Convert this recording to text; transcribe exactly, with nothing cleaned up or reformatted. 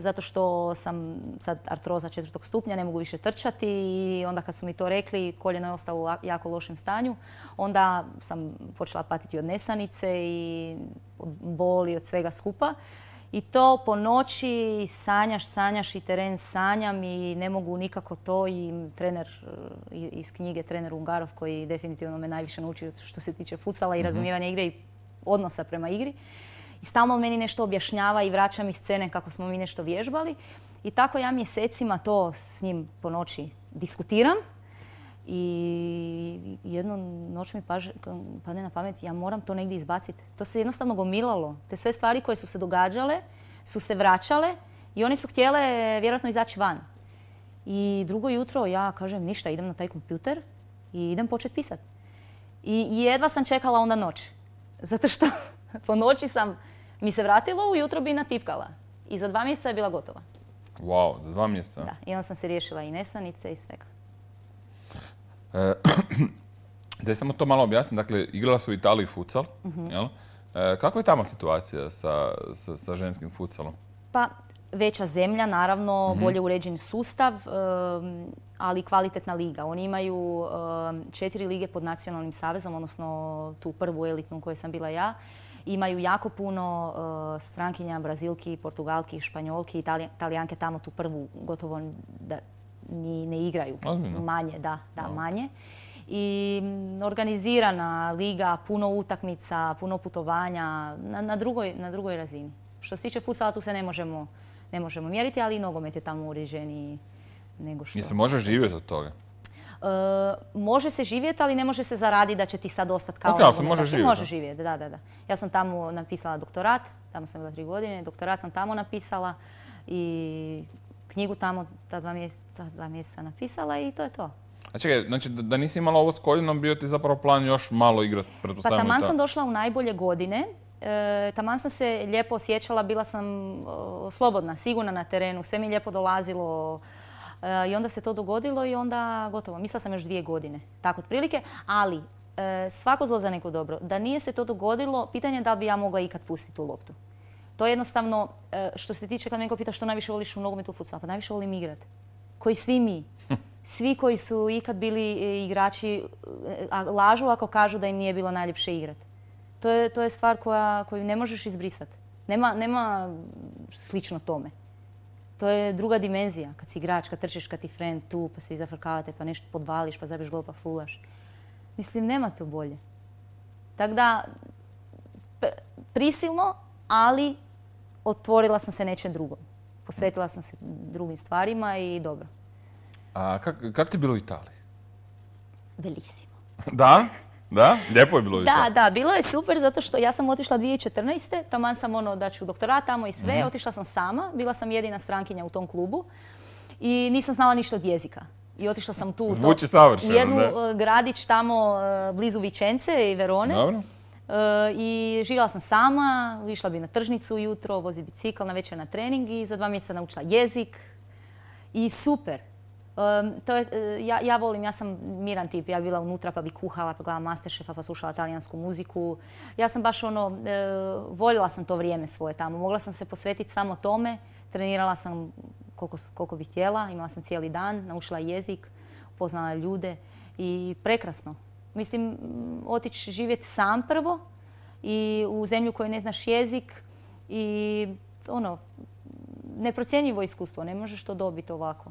zato što sam sad artroza četvrtog stupnja, ne mogu više trčati i onda kad su mi to rekli, koljeno je ostalo u jako lošem stanju, onda sam počela patiti od nesanice i od boli, od svega skupa. I to po noći sanjaš, sanjaš i teren sanjam i ne mogu nikako to i trener iz knjige, trener Ungarov koji definitivno me najviše naučio što se tiče futsala i razumijevanja igre i odnosa prema igri. I stalno on meni nešto objašnjava i vraća mi scene kako smo mi nešto vježbali. I tako ja mjesecima to s njim po noći diskutiram. I jednu noć mi padne na pamet, ja moram to negdje izbaciti. To se jednostavno gomilalo. Te sve stvari koje su se događale su se vraćale i one su htjele vjerojatno izaći van. I drugo jutro ja kažem ništa, idem na taj kompjuter i idem početi pisati. I jedva sam čekala onda noć. Zato što po noći sam mi se vratilo, ujutro bi natipkala. I za dva mjeseca je bila gotova. Wow, za dva mjeseca? Da, i onda sam se riješila i nesanice i svega. E, da je samo to malo objasnim, dakle, igrala su u Italiji futsal, uh-huh. jel? E, kakva je tamo situacija sa, sa, sa ženskim futsalom? Pa, veća zemlja, naravno, uh-huh. bolje uređen sustav, um, ali kvalitetna liga. Oni imaju um, četiri lige pod nacionalnim savezom, odnosno tu prvu elitnu u kojoj sam bila ja. Imaju jako puno uh, strankinja, Brazilki, Portugalki, Španjolki, Italija, Italijanke tamo tu prvu gotovo da ni ne igraju. Ozbiljno? Manje, da, da, no. manje. I organizirana liga, puno utakmica, puno putovanja na, na, drugoj, na drugoj razini. Što se tiče futsala, tu se ne možemo, ne možemo mjeriti, ali i nogomet je tamo uređeniji nego što... I se može živjeti od toga? E, može se živjeti, ali ne može se zaraditi da će ti sad ostati kao... Ok, ali se može živjeti? Može živjeti, da, da, da. Ja sam tamo napisala doktorat, tamo sam bila tri godine, doktorat sam tamo napisala i knjigu tamo ta dva mjeseca, dva mjeseca napisala i to je to. A čekaj, znači da, da nisi imala ovo s koljenom, bio ti zapravo plan još malo igrati, pretpostavljamo. Pa taman sam došla u najbolje godine. E, taman sam se lijepo osjećala, bila sam o, slobodna, sigurna na terenu, sve mi lijepo dolazilo e, i onda se to dogodilo i onda gotovo. Mislila sam još dvije godine, tako otprilike, ali e, svako zlo za neko dobro. Da nije se to dogodilo, pitanje je da li bi ja mogla ikad pustiti tu loptu. To je jednostavno, e, što se tiče kad me neko pita što najviše voliš u nogometu, u futsalu, pa najviše volim igrati. Koji svi mi. Svi koji su ikad bili igrači lažu ako kažu da im nije bilo najljepše igrati. To je, to je stvar koja, koju ne možeš izbrisati. Nema, nema slično tome. To je druga dimenzija. Kad si igrač, kad trčiš, kad ti friend tu, pa se izafrkavate, pa nešto podvališ, pa zabiješ gol, pa fulaš. Mislim, nema to bolje. Tako da, prisilno, ali otvorila sam se nečem drugom. Posvetila sam se drugim stvarima i dobro. A kak, kak ti je bilo u Italiji? Bellissimo. Da? Da? Lijepo je bilo u Italiji? Da, da, bilo je super zato što ja sam otišla dvije tisuće četrnaeste. Taman sam ono da ću doktorat tamo i sve. Mm-hmm. Otišla sam sama, bila sam jedina strankinja u tom klubu i nisam znala ništa od jezika. I otišla sam tu Zvuči savršeno, u jednu ne? gradić tamo blizu Vicence i Verone. Dobro. Uh, I živjela sam sama, išla bi na tržnicu ujutro, vozi bicikl, na večer na trening i za dva mjeseca naučila jezik. I super. Um, to je, uh, ja, ja volim, ja sam miran tip, ja bi bila unutra pa bi kuhala, pa gledala Masterchefa, pa slušala talijansku muziku. Ja sam baš ono, uh, voljela sam to vrijeme svoje tamo, mogla sam se posvetiti samo tome, trenirala sam koliko, koliko bih htjela, imala sam cijeli dan, naučila jezik, upoznala ljude i prekrasno. Mislim, otići živjeti sam prvo i u zemlju koju ne znaš jezik i ono, neprocjenjivo iskustvo, ne možeš to dobiti ovako.